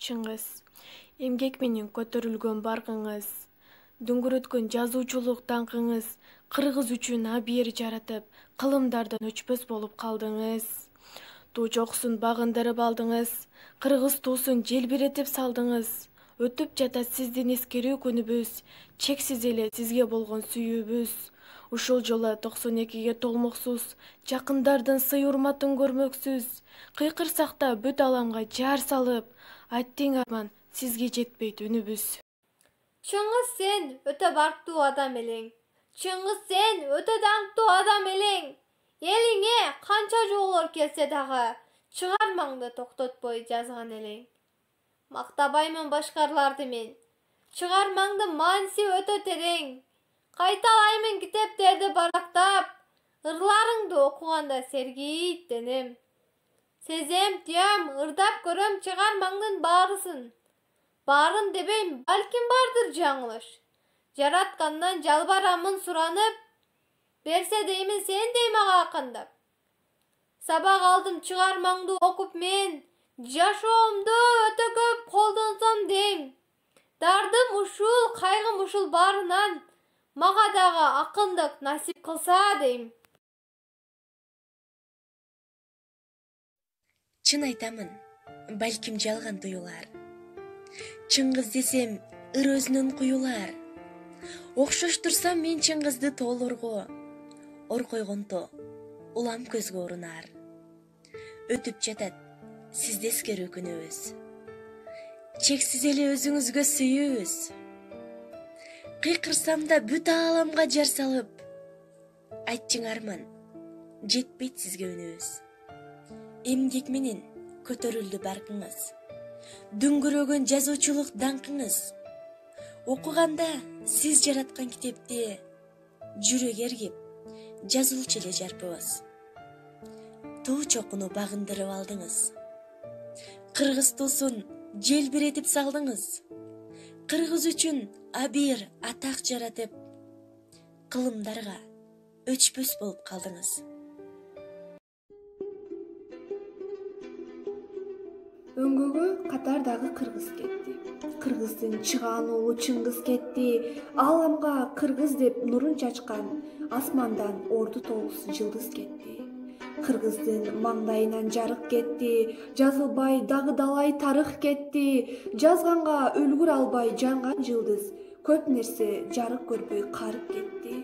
Чыңгыз, эмгек менен көтөрүлгөн баркыңыз, дүңгүрөткөн жазуучулук даңкыңыз кыргыз үчүн абийир жаратып, кылымдардан өчпөс болуп калдыңыз. Туу жоксун багындырып алдыңыз, кыргыз туусун желбиретип салдыңыз. Өтүп жатат сиздин эскерүү күнүбүз, чексиз эле сизге болгон сүйүүбүз. Ушул жолу 92-ге толмоксуз, жакындардын сый урматын көрмөксүз. Кыйкырсак да бүт аламга жар салып, айттың арман, сизге жетпейт үнүбүз. Чыңгыз, сен өтө барктуу адам элең. Чыңгыз, сен өтө даңктуу адам элең. Элиңе канча жоолор келсе дагы, чыгармаңды токтотпой жазган элең. Мактабаймын башкаларды мен. Чыгармаңды мааниси өтө терең. Кайталаймын китептерди барактап, ырларыңды окуганда сергийт денем. Сезем, туям, ырдап көрөм чыгармаңдын баарысын. Баарын дебейм, балким бардыр жаңылыш. Жараткандан жалбарамын суранып, берсе деймин сен дей мага акындап. Сабак алдым чыгармаңды окуп мен, жашоомду өтө көп колдонсом дейм. Дардым ушул, кайгым ушул баарынан, мага дагы акындык насип кылса дейм. Чын айтамын, балким жалган туюлар. Чыңгыз десем, ыр өзүнөн куюлар. Окшоштурсам мен Чыңгызды тоолорго, ор койгонто улам көзгө урунар. Өтүп жатат сизде эскерүү күнүбүз, чексиз эле өзүңүзгө сүйүүбүз. Кыйкырсам да бүт ааламга жар салып, айтчың арман, жетпейт сизге үнүбүз. Эмгек менен көтөрүлдү баркыңыз, дүңгүрөгөн жазуучулук даңкыңыз. Окуганда сиз жараткан китепти жүрөк эргип, жазуулчу эле жарпыбыз. Туу чокуну багындырып алдыңыз, кыргыз туусун желбиретип салдыңыз. Кыргыз үчүн абийир атак жаратып, кылымдарга өчпөс болуп калдыңыз. Өңгөгө катардагы кыргыз кетти. Кыргыздын чыгаан уулу Чыңгыз кетти. Ааламга кыргыз деп нурун чачкан, асмандан орду толгус жылдыз кетти. Кыргыздын маңдайынан жарык кетти, жазылбай дагы-далай тарых кетти. Жазганга үлгүр албай жанган жылдыз, көп нерсе жарык көрбөй карып кетти.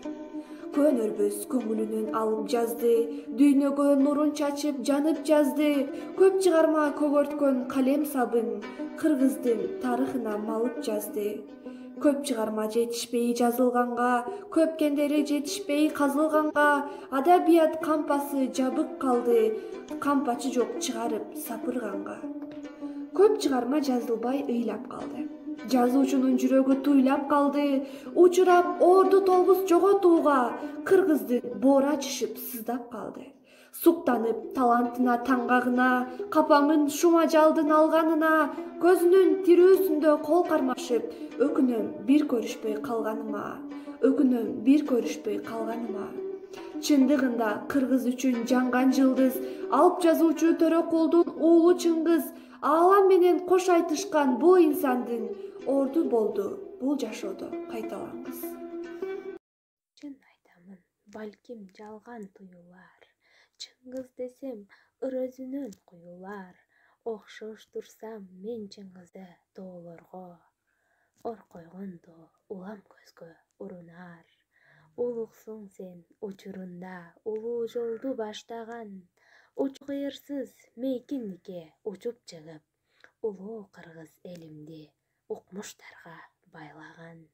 Көнөрбөс көңүлүнөн алып жазды, дүйнөгө нурун чачып жанып жазды. Көп чыгарма көгөрткөн калем сабын, кыргыздын тарыхына малып жазды. Көп чыгарма жетишпей жазылганга, көпкендери жетишпей казылганга, адабият кампасы жабык калды, кампачы жок чыгарып сапырганга. Көп чыгарма жазылбай ыйлап калды. Жазуучунун жүрөгү туйлап калды, учурап орду толгус жоготууга, кыргыздын боора ачышып сыздап калды. Суктанып талантына таңгагына, капаңын шумажалдын алганына, көзүнүн тирүүсүндө кол кармашып, өкүнөм бир көрүшпөй калганыма, өкүнөм бир көрүшпөй калганыма. Чындыгында кыргыз үчүн жанган жылдыз, алып жазуучу Төрөкулдун уулу Чыңгыз, аалам менен кош айтышкан бул инсандын орду болду бул жашоодо кайталангыс. Чын айтамын, балким жалган туюлар. Чыңгыз десем, ыр өзүнөн куюлар. Окшоштурсам мен Чыңгызды тоолорго, ор койгондо улам көзгө урунар. Улуксуң сен учурунда улуу жолду баштаган, учу кыйырсыз мейкиндикке учуп чыгып, улуу кыргыз элимди укмуштарга байлаган.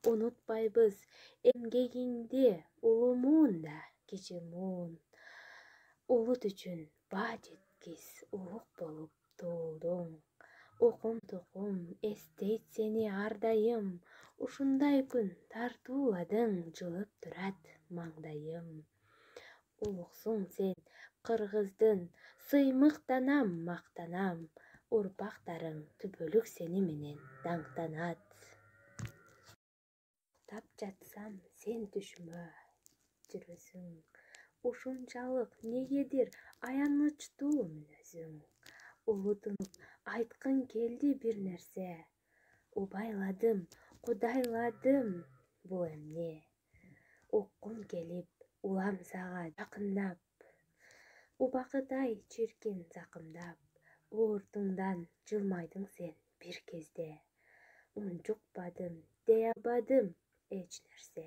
Унутпайбыз эмгегиңди улумуун да кичи муун. Улут үчүн баа жеткис улук болуп туулдуң. Укум-тукум эстейт сени ар дайым, ушундай күн тартууладың, жылып турат маңдайым. Улуксуң сен кыргыздын, сыймыктанам, мактанам, урпактарың түбөлүк сени менен даңктанат. Тап жатсам сен түшүмө жүрөсүң, ушунчалык негедир аянычтуу мүнөзүң. улутунуп айткың келди бир нерсе. Убайладым, кудайладым, бул эмне? Уккум келип, улам сага жакындап, убакыт-ай чиркин закымдап, ууртуңдан жылмайдың сен бир кезде. Унчукпадым, дей албадым эч нерсе.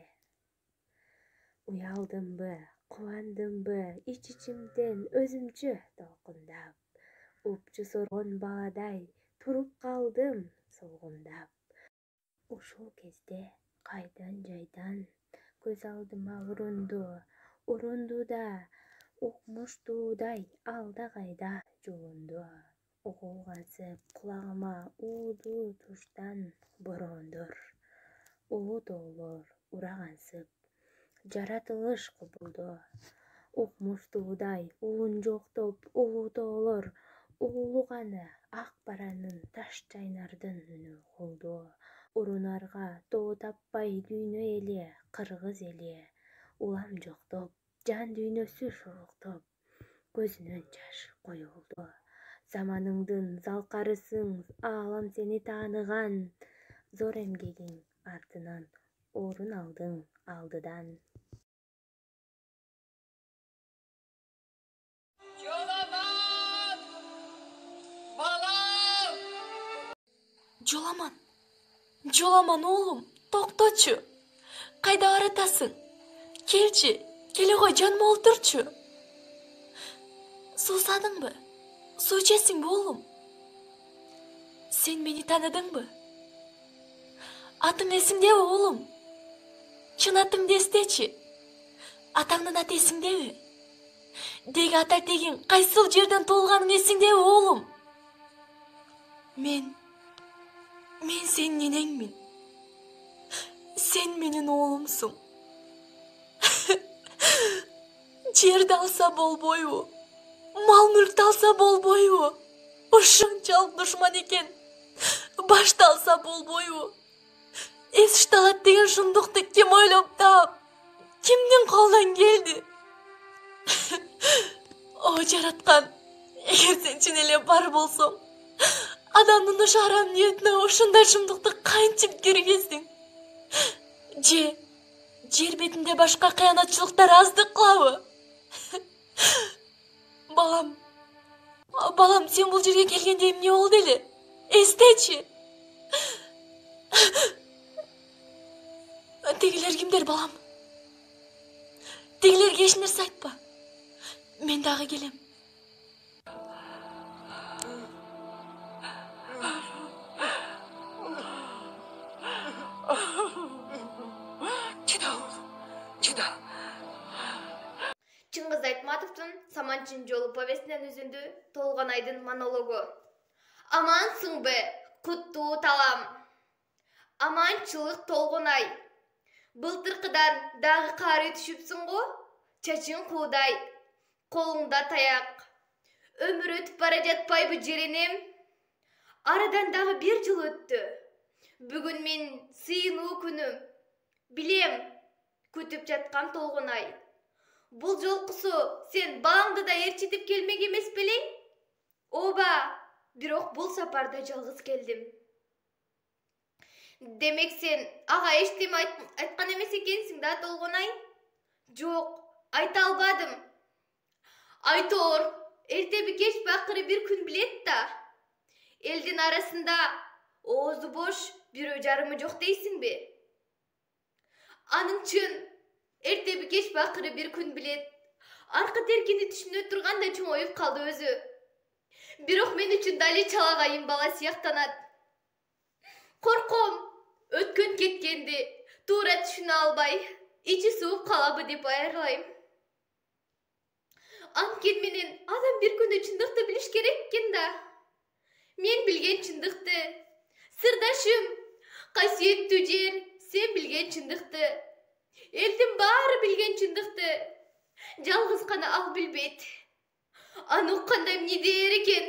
Уялдымбы, кубандымбы, ич-ичимден өзүмчө толкундап, упчу соргон баладай туруп калдым солгундап. Ушул кезде кайдан жайдан көз алдыма урунду да укмуштуудай алда кайда жулунду. Угулгансып кулагыма уулуу туштан бороондор, улуу тоолор урагансып, жаратылыш кубулду. Укмуштуудай улунжуктоп улуу тоолор уулуганы ак баранын таш чайнардын үнү угулду. Урунарга тоо таппай дүйнө эли, кыргыз эли, улам жоктоп, жан дүйнөсү шуруктоп, көзүнөн жаш коюлду. Заманыңдын залкарысың, аалам сени тааныган, зор эмгегиң артынан орун алдың алдыдан. Жоламан оолум, токточу. Кайда баратасың? Келчи, келе кой, жаныма олтурчу. Суусадыңбы? Суу ичесиңби оолум? Сен мени тааныдыңбы? Атың эсиңдеби оолум? Чын атыңды эстечи. Атаңдын аты эсиңдеби? Деги ата тегиң кайсыл жерден туулганын эсиңдеби оолум? Мен сенин энеңмин. Сен менин оолумсуң. Жерди алса болбойбу? Мал-мүлктү алса болбойбу? Ушунчалык душман экен. Башты алса болбойбу? Эс ышталат деген шундукту ким ойлоп таап, кимдин колунан келди? О жараткан, эгер сен чын эле бар болсоң, адамдын ошо арам ниетине ушундай шумдукту кантип киргиздиң? Жер бетинде башка кыянатчылыктар аздык кылабы? Балам, сен бул жерге келгенде эмне болду эле? Эстечи. Тегилер кимдер, балам? Тегилерге эч нерсе айтпа. Мен дагы келем. Чыңгыз Айтматовдун Саманчын жолу повестинен үзүндү Толгонайдын монологу. Амансыңбы, куттуу талам. Аманчылык Толгонай. Былтыркыдан дагы каары түшүпсүң го? Чачың куудай, колуңда таяк. Өмүр өтүп бара жатпайбы жеренем? Арадан дагы 1 жыл өттү. Бүгүн мен сыйынуу күнүм. Билем, күтүп жаткан Толгонай. Бул жолкусу сен балаңды да ээрчитип келмек эмес белең? Ооба, бирок бул сапарда жалгыз келдим. Демек сен ага эчтеме айткан эмес экенсиң да, Толгонай? Жок, айта албадым. Айтор, эртеби кеч бакыры бир күн билет да. Элдин арасында оозу бош бирөө жарымы жок дейсиңби? Анын чын, эртеби кеч бакыры бир күн билет. Аркы теркини түшүнө турганда чоңоюп калды өзү. Бирок мен үчүн дали чалагайым бала сыяктанат. Корком, өткөн кеткенди туура түшүнө албай, ичи сууп калабы деп аярлайм. Анткени менен адам бир күнү чындыкты билиш керек экен да. Мен билген чындыкты, сырдашым, касиеттүү жер, сен билген чындыкты, элдин баары билген чындыкты, жалгыз гана ал билбейт. Аны укканда эмне дээр экен?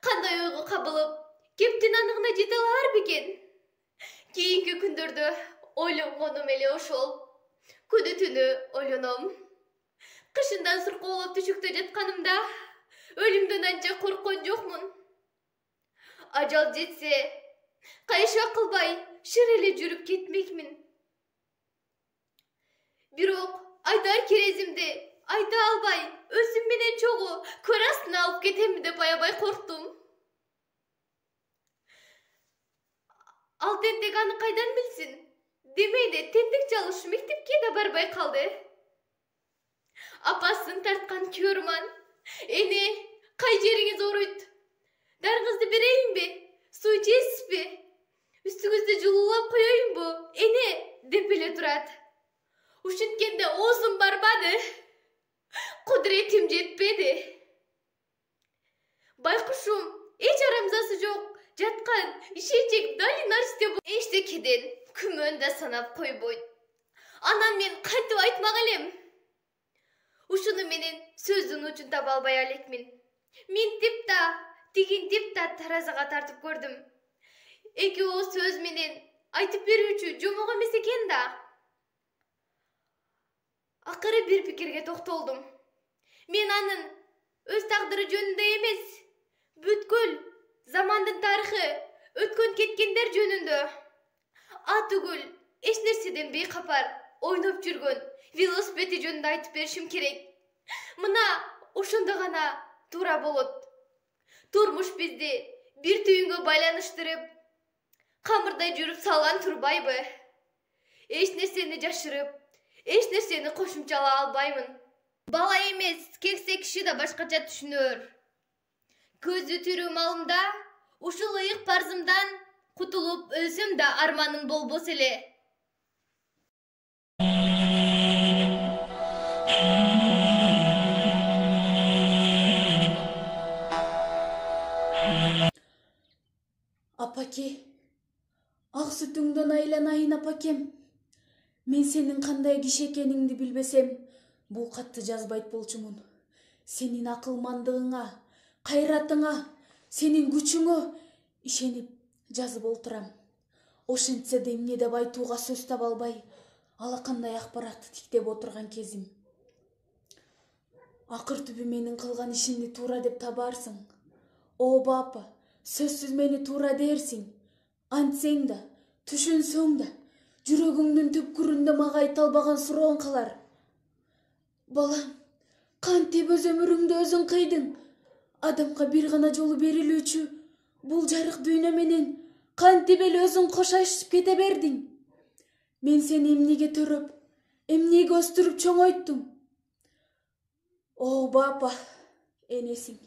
Кандай ойго кабылып, кептин аныгына жете алар бекен? Кийинки күндөрдө ойлонгонум эле ошол. Күнү түнү ойлоном. Кышындан суркоолоп түшүктө жатканымда Өлүмдөн анча корккон жокмун. Ажал жетсе, кайша кылбай шыр эле жүрүп кетмекмин. Бирок айтар керезимди айта албай, өзүм менен чогуу көр астына алып кетемби деп аябай корктум. Ал тентек аны кайдан билсин? Демейде тентек чалыш мектепке да барбай калды. Апасын тарткан Кёрман: "Эне, кай жериңиз ооруйт? Дарыңызды берейинби? Суу ичесизби? Үстүңүздү жылуулап коеюнбу? Эне?" деп эле турат. Ушинткенде оозум барбады. Кудуретим жетпеди. Байкушум эч арамзасы жок жаткан ишенчек Долинарсте эчтекеден күмөн да санап койбойт. Анан мен кантип айтмак элем? Ушуну менен сөздүн учун таба албай элекмин. Минтип да, тигинтип да таразага тартып көрдүм. Эки ооз сөз менен айтып берүүчү жомок эмес экен да. Акыры бир пикирге токтолдум. Мен анын өз тагдыры жөнүндө эмес, бүткүл замандын тарыхы, өткөн кеткендер жөнүндө, атүгүл эч нерседен бейкапар ойноп жүргөн велосипеди жөнүндө айтып беришим керек. Мына ошондо гана туура болот. Турмуш бизди бир түйүнгө байланыштырып, камырдай жүрүп салган турбайбы? Эч нерсени жашырып, эч нерсени кошумчалай албаймын. Бала эмес, кексе киши да башкача түшүнөр. Көзү тирүү малымда ушул ыйык парзымдан кутулуп өлсөм да арманым болбос эле. Апаке, ак сүтүңдөн айланайын апакем. Мен сенин кандай киши экениңди билбесем, бул катты жазбайт болчумун. Сенин акылмандыгыңа, кайратыңа, сенин күчүңө ишенип жазып олтурам. Ошентсе да эмне деп айтууга сөз таба албай, алакандай акпаратты тиктеп отурган кезим. Акыр түбү менин кылган ишимди туура деп табарсың. Ооба апа, сөзсүз мени туура дээрсиң. Антсең да, түшүнсөң да, жүрөгүңдүн түпкүрүндө мага айта албаган сурооң калар. Балам, кантип өз өмүрүңдү өзүң кыйдың? Адамга бир гана жолу берилүүчү бул жарык дүйнө менен кантип эле өзүң кошайышып кете бердиң? Мен сени эмнеге төрөп, эмнеге өстүрүп чоңойттум? Ооба апа, энесиң.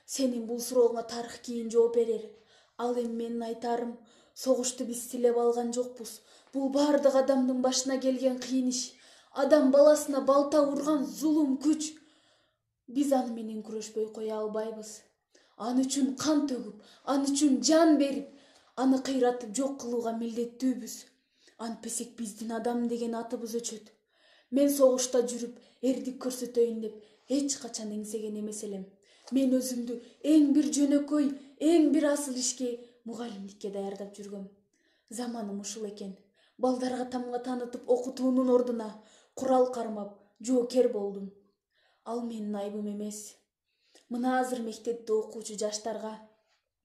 Сенин бул сурооңа тарых кийин жооп берер. Ал эми менин айтарым, согушту биз тилеп алган жокпуз. Бул бардык адамдын башына келген кыйын иш. Адам баласына балта урган зулум күч. Биз аны менен күрөшпөй кое албайбыз. Аны үчүн кан төгүп, аны үчүн жан берип, аны кыйратып жок кылууга милдеттүүбүз. Антпесек биздин адам деген атыбыз өчөт. Мен согушта жүрүп, эрдик көрсөтөйүн деп эч качан эңсеген эмес элем. Мен өзүмдү эң бир жөнөкөй, эң бир асыл ишке, мугалимдикке даярдап жүргөм. Заманым ушул экен. Балдарга тамга таанытып окутуунун ордуна курал кармап, жоокер болдум. Ал менин айбым эмес. Мына азыр мектепте окуучу жаштарга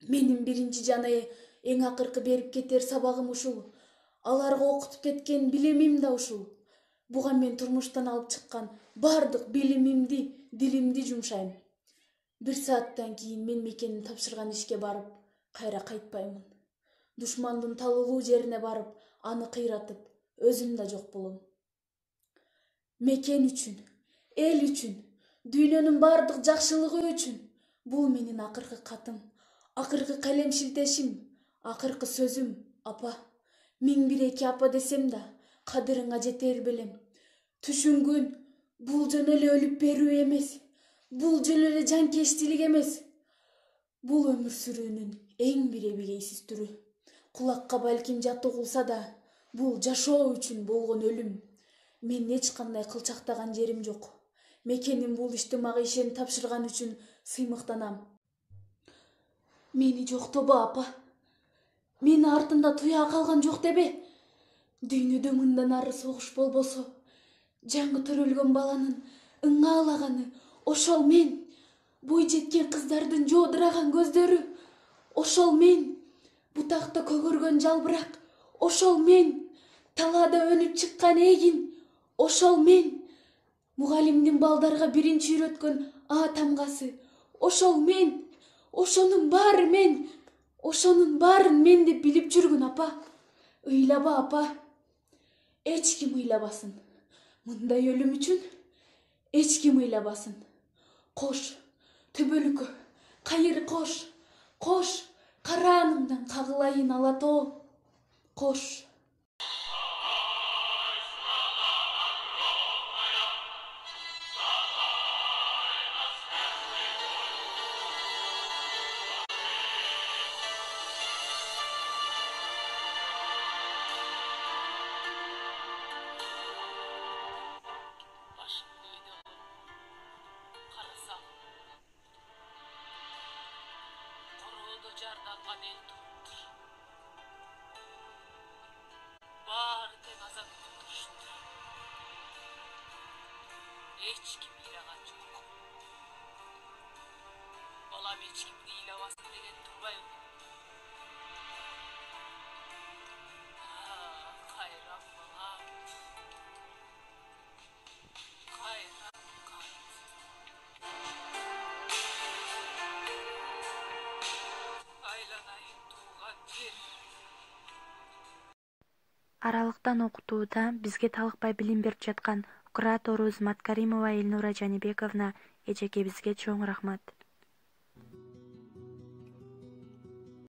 менин биринчи жана эң акыркы берип кетер сабагым ушул. Аларга окутуп кеткен билимим да ушул. Буга мен турмуштан алып чыккан бардык билимимди, дилимди жумшайм. 1 сааттан кийин мен Мекенин тапшырган ишке барып, кайра кайтпаймын. Душмандын талуулуу жерине барып, аны кыйратып, өзүм да жок болом. Мекен үчүн, эл үчүн, дүйнөнүн бардык жакшылыгы үчүн бул менин акыркы катым, акыркы калем шилтешим, акыркы сөзүм, апа. 1001 апа десем да, кадырыңа жетер белем. Түшүнгүн бул жөн эле өлүп берүү эмес, бул жөн эле жанкечтилик эмес. Бул өмүр сүрүүнүн эң бир эбегейсиз түрү. Кулакка балким жат угулса да, бул жашоо үчүн болгон өлүм. Мен эч кандай кылчактаган жерим жок. Мекенин бул ишти мага ишенип тапшырган үчүн сыймыктанам. Мени жоктобо апа. Мени артында туя калган жок дебе. Дүйнөдө мындан ары согуш болбосо, жаңы төрөлгөн баланын ыңаалаганы ошол мен. бой жеткен кыздардын жоодураган көздөрү, ошол мен, бутакта көгөргөн жалбырак, ошол мен, талаада өнүп чыккан эгин, ошол мен, мугалимдин балдарга биринчи үйрөткөн А тамгасы, ошол мен, ошонун баары мен, ошонун баарын мен деп билип жүргүн апа. Ыйлаба апа, эч ким ыйлабасын. Мындай өлүм үчүн эч ким ыйлабасын. Кош, төбөлүккө, кайыр кош, кош, караанымдан кагылайын ала тоо, кош. Жарданган эл туруптур. Баары тең азап күтүштүр. Эч ким ыйлаган жок. Балам эч кимди ыйлабасын деген турбайбы? Кайран балам. Кайран кайт. Аралыктан окутууда бизге талыкпай билим берип жаткан кураторубуз Маткаримова Элнура Жанибековна эжекебизге чоң рахмат.